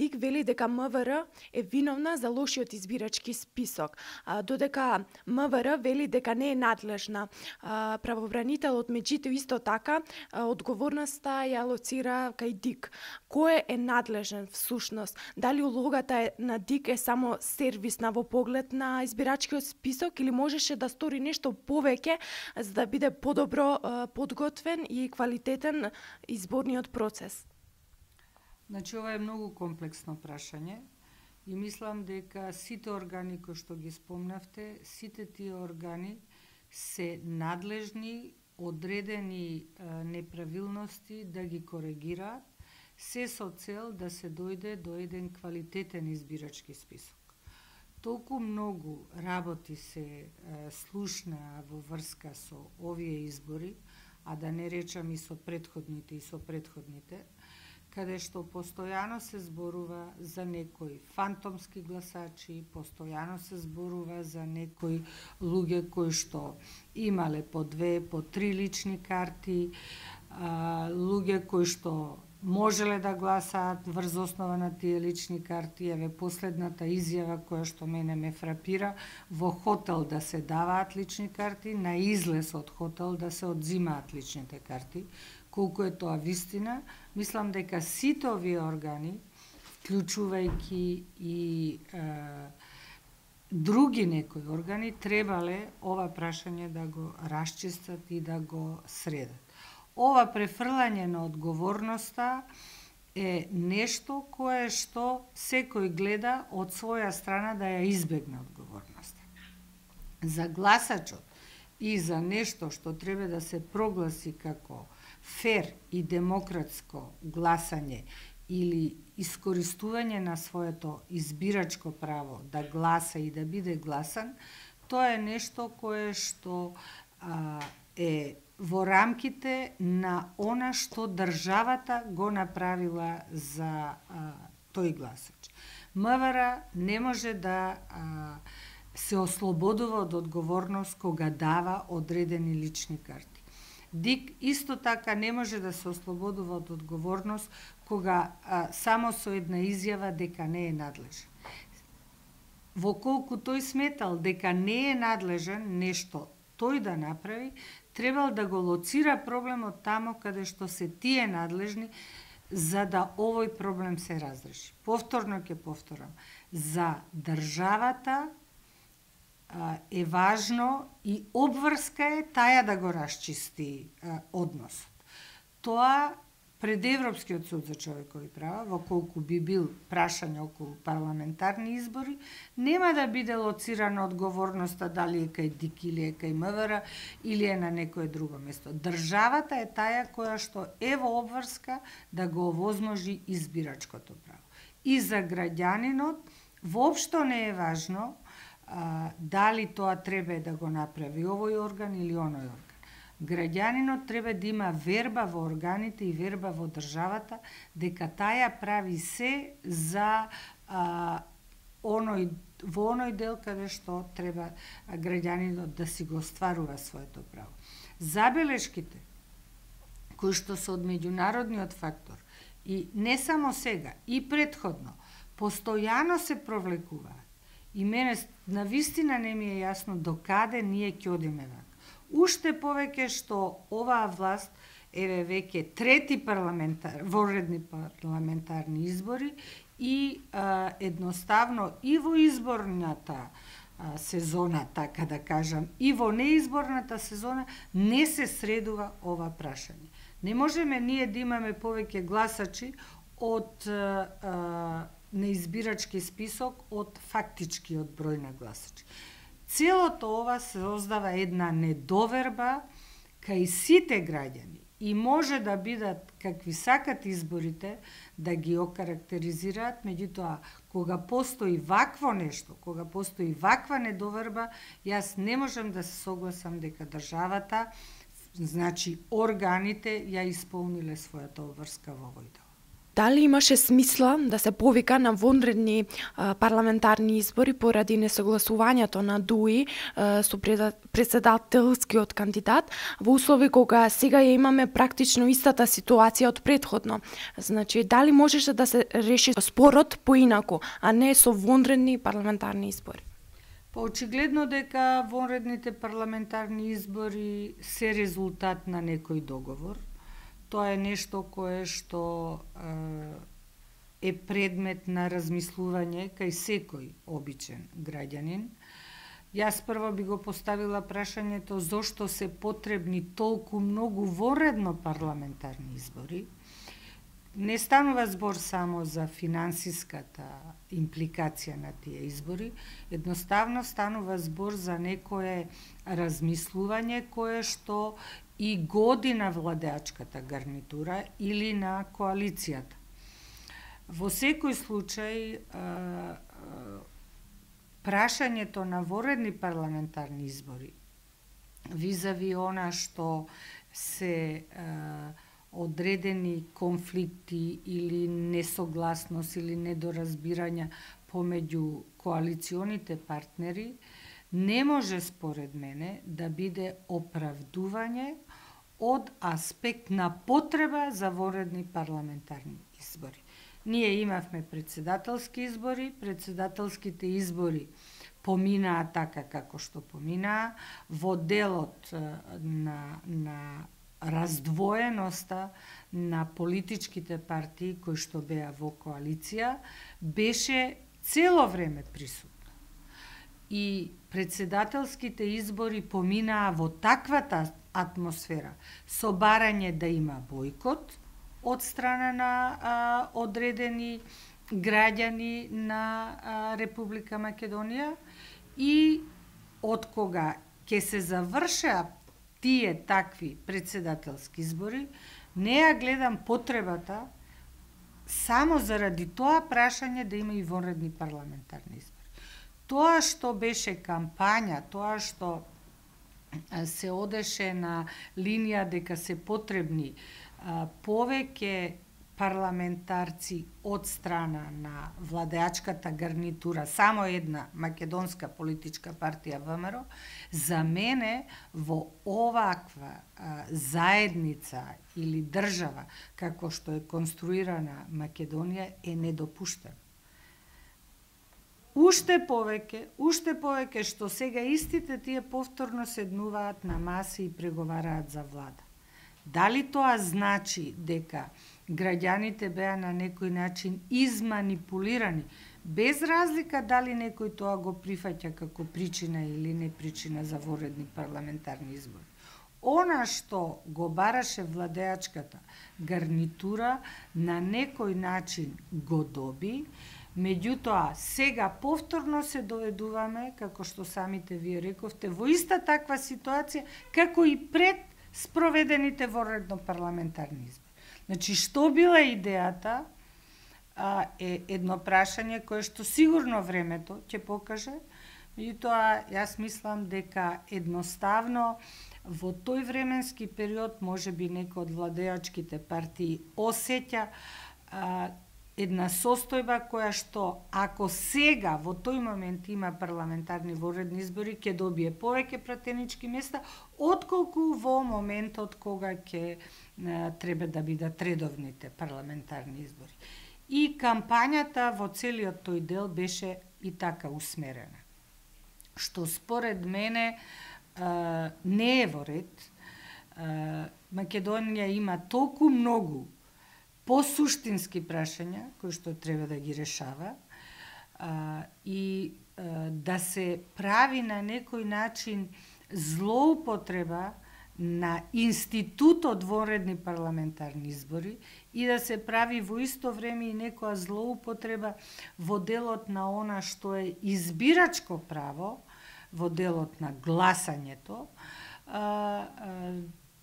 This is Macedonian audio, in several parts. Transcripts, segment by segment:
ДИК вели дека МВР е виновна за лошиот избирачки список, додека МВР вели дека не е надлежна. Правобранителот меѓутоа исто така одговорноста ја лоцира кај ДИК. Кој е надлежен всушност? Дали улогата на ДИК е само сервисна во поглед на избирачкиот список или можеше да стори нешто повеќе за да биде подобро подготвен и квалитетен изборниот процес? Значи, ова е многу комплексно прашање и мислам дека сите органи кои што ги спомнавте, сите тие органи се надлежни одредени неправилности да ги коригираат, се со цел да се дојде до еден квалитетен избирачки список. Толку многу работи се слушна во врска со овие избори, а да не речам и со предходните, каде што постојано се зборува за некои фантомски гласачи, постојано се зборува за некои луѓе кои што имале по 2, по 3 лични карти, луѓе кои што можеле да гласаат врз основа на тие лични карти. Еве последната изјава која што мене ме фрапира, во хотел да се даваат лични карти, на излез од хотел да се одзимаат личните карти. Колку е тоа вистина, мислам дека сите овие органи, вклучувајќи и други некои органи, требале ова прашање да го расчистат и да го средат. Ова префрлање на одговорноста е нешто кое што секој гледа од своја страна да ја избегне одговорноста. За гласачот и за нешто што треба да се прогласи како фер и демократско гласање или искористување на своето избирачко право да гласа и да биде гласан, тоа е нешто кое што е во рамките на она што државата го направила за тој гласач. МВР не може да се ослободува од одговорност кога дава одредени лични карти. ДИК исто така не може да се ослободува од одговорност кога само со една изјава дека не е надлежен. Воколку тој сметал дека не е надлежен нешто тој да направи, требал да го лоцира проблемот тамо каде што се тие надлежни за да овој проблем се разреши. Повторно ќе повторам, за државата е важно и обврска е таја да го расчисти односот. Тоа пред Европскиот суд за човекови права, во колку би бил прашање околу парламентарни избори, нема да биде лоцирана одговорноста дали е кај ДИК или е кај МВР или е на некое друго место. Државата е таја која што е во обврска да го овозможи избирачкото право. И за граѓанинот воопшто не е важно дали тоа треба да го направи овој орган или оној орган. Граѓанинот треба да има верба во органите и верба во државата дека таја прави се за во оној дел каде што треба граѓанинот да си го остварува своето право. Забелешките кои што се од меѓународниот фактор и не само сега, и претходно, постојано се провлекуваат. И мене навистина не ми е јасно до каде ние ќе одиме вака. Уште повеќе што оваа власт еве веќе трети воредни парламентарни избори и едноставно и во изборната сезона, така да кажам, и во неизборната сезона не се средува ова прашање. Не можеме ние да имаме повеќе гласачи од неизбирачки список од фактичкиот број на гласачи. Целото ова се создава една недоверба кај сите граѓани и може да бидат какви сакат изборите да ги окарактеризираат, меѓутоа кога постои вакво нешто, кога постои ваква недоверба, јас не можам да се согласам дека државата, значи органите ја исполниле својата обврска во овој дел. Дали имаше смисла да се повика на вонредни парламентарни избори поради несогласувањето на ДУИ со председателскиот кандидат во услови кога сега ја имаме практично истата ситуација од претходно? Значи, дали можеше да се реши спорот поинаку, а не со вонредни парламентарни избори? Очигледно дека вонредните парламентарни избори се резултат на некој договор. Тоа е нешто кое што е предмет на размислување кај секој обичен граѓанин. Јас прво би го поставила прашањето зошто се потребни толку многу вонредно парламентарни избори. Не станува збор само за финансиската импликација на тие избори, едноставно станува збор за некое размислување кое што и годи на владеачката гарнитура или на коалицијата. Во секој случај, прашањето на вонредни парламентарни избори визави она што се одредени конфликти или несогласност или недоразбирања помеѓу коалиционите партнери, не може според мене да биде оправдување од аспект на потреба за вонредни парламентарни избори. Ние имавме председателски избори, председателските избори поминаа така како што поминаа, во делот на раздвоеноста на политичките партии кои што беа во коалиција беше цело време присутно. И председателските избори поминаа во таквата атмосфера, со барање да има бојкот од страна на одредени граѓани на Република Македонија и од кога ќе се завршеа тие такви председателски избори, не ја гледам потребата само заради тоа прашање да има и вонредни парламентарни избори. Тоа што беше кампања, тоа што се одеше на линија дека се потребни повеќе парламентарци од страна на владеачката гарнитура, само една македонска политичка партија ВМРО, за мене во оваква заедница или држава, како што е конструирана Македонија, е недопуштено. Уште повеќе што сега истите тие повторно седнуваат на маси и преговараат за влада. Дали тоа значи дека граѓаните беа на некој начин изманипулирани, без разлика дали некој тоа го прифаќа како причина или не причина за вонредни парламентарни избори? Она што го бараше владеачката гарнитура на некој начин го доби, меѓутоа сега повторно се доведуваме, како што самите вие рековте, во иста таква ситуација како и пред спроведените вонредно парламентарни избори. Значи, што била идејата е едно прашање кое што сигурно времето ќе покаже, меѓутоа јас мислам дека едноставно во тој временски период можеби некој од владеачките партии осеќа една состојба која што ако сега во тој момент има парламентарни вонредни избори ќе добие повеќе пратенички места отколку во моментот кога ќе треба да бидат редовните парламентарни избори. И кампањата во целиот тој дел беше и така усмерена. Што според мене не е во ред. Македонија има толку многу посуштински прашања кои што треба да ги решава и да се прави на некој начин злоупотреба на институтот вонредни парламентарни избори и да се прави во исто време и некоја злоупотреба во делот на она што е избирачко право, во делот на гласањето,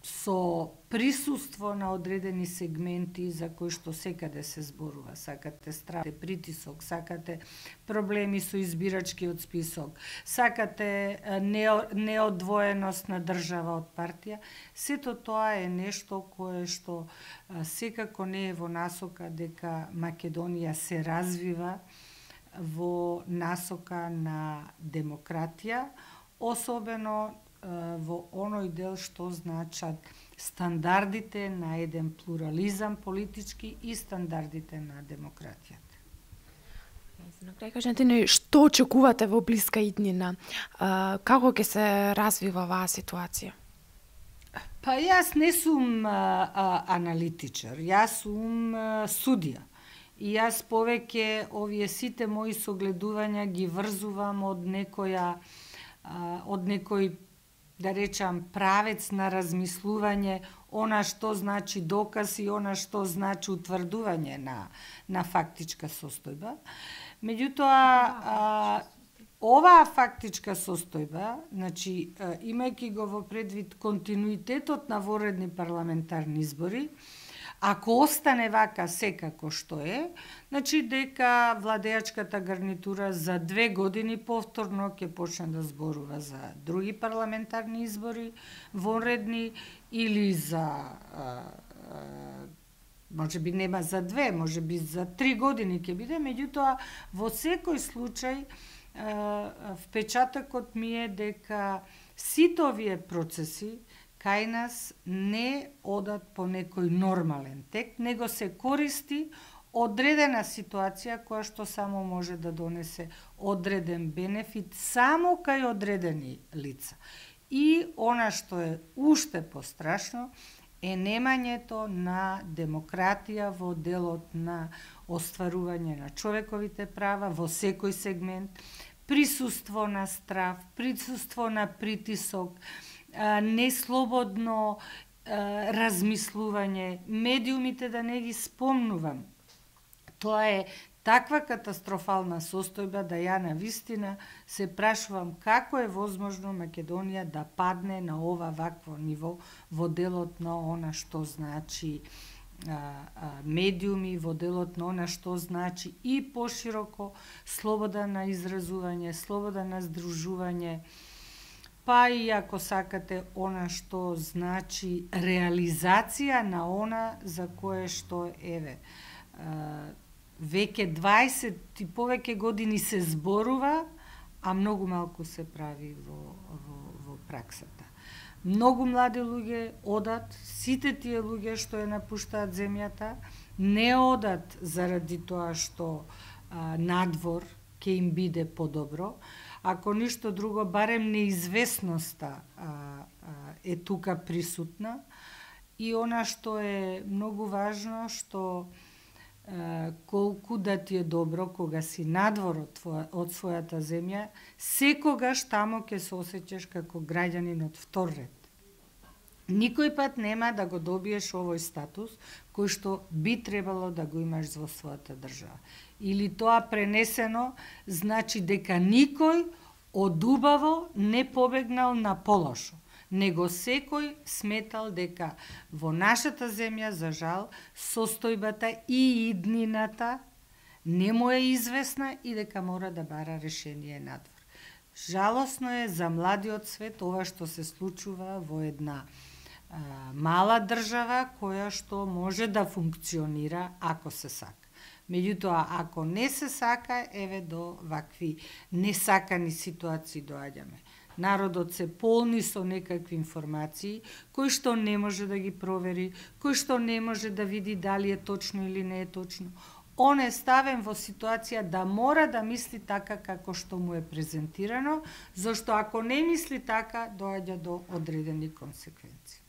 со присуство на одредени сегменти за кои што секаде се зборува. Сакате страх, притисок, сакате проблеми со избирачкиот список, сакате неодвоеност на држава од партија. Сето тоа е нешто кое што секако не е во насока дека Македонија се развива во насока на демократија, особено во оној дел што значат стандардите на еден плурализам политички и стандардите на демократијата. На крај кажете ни што очекувате во блиска иднина? Како ќе се развива оваа ситуација? Па јас не сум аналитичар, јас сум судија. И јас повеќе овие сите мои согледувања ги врзувам од некој да речам правец на размислување, она што значи доказ и она што значи утврдување на фактичка состојба. Меѓутоа, оваа фактичка состојба, значи, имајќи го во предвид континуитетот на воредни парламентарни избори, ако остане вака секако што е, значи дека владеачката гарнитура за 2 години повторно ќе почне да зборува за други парламентарни избори, вонредни или за може би нема за 2, може би за 3 години ќе биде, меѓутоа во секој случај впечатокот ми е дека сите овие процеси кај нас не одат по некој нормален тек, него се користи одредена ситуација која што само може да донесе одреден бенефит само кај одредени лица. И она што е уште пострашно е немањето на демократија во делот на остварување на човековите права во секој сегмент, присуство на страв, присуство на притисок, неслободно размислување, медиумите да не ги спомнувам. Тоа е таква катастрофална состојба да ја на вистина се прашувам како е возможно Македонија да падне на ова вакво ниво во делот на она што значи медиуми, во делот на она што значи и пошироко слобода на изразување, слобода на здружување, па и ако сакате она што значи реализација на она за кое што веќе 20 и повеќе години се зборува, а многу малку се прави во праксата. Многу млади луѓе одат, сите тие луѓе што ја напуштаат земјата, не одат заради тоа што надвор ќе им биде подобро, ако ништо друго, барем неизвестноста е тука присутна. И она што е многу важно, што колку да ти е добро кога си надвор од својата земја, секогаш тамо ќе се осеќаш како граѓанин од втор ред. Никој пат нема да го добиеш овој статус кој што би требало да го имаш во својата држава. Или тоа пренесено значи дека никој од убаво не побегнал на полошо, него секој сметал дека во нашата земја, за жал, состојбата и иднината не му е известна и дека мора да бара решение надвор. Жалосно е за младиот свет ова што се случува во една мала држава која што може да функционира ако се сака. Меѓутоа, ако не се сака, еве до вакви несакани ситуации доаѓаме. Народот се полни со некакви информации, кои што не може да ги провери, кои што не може да види дали е точно или не е точно. Он е ставен во ситуација да мора да мисли така како што му е презентирано, зашто ако не мисли така, доаѓа до одредени консеквенции.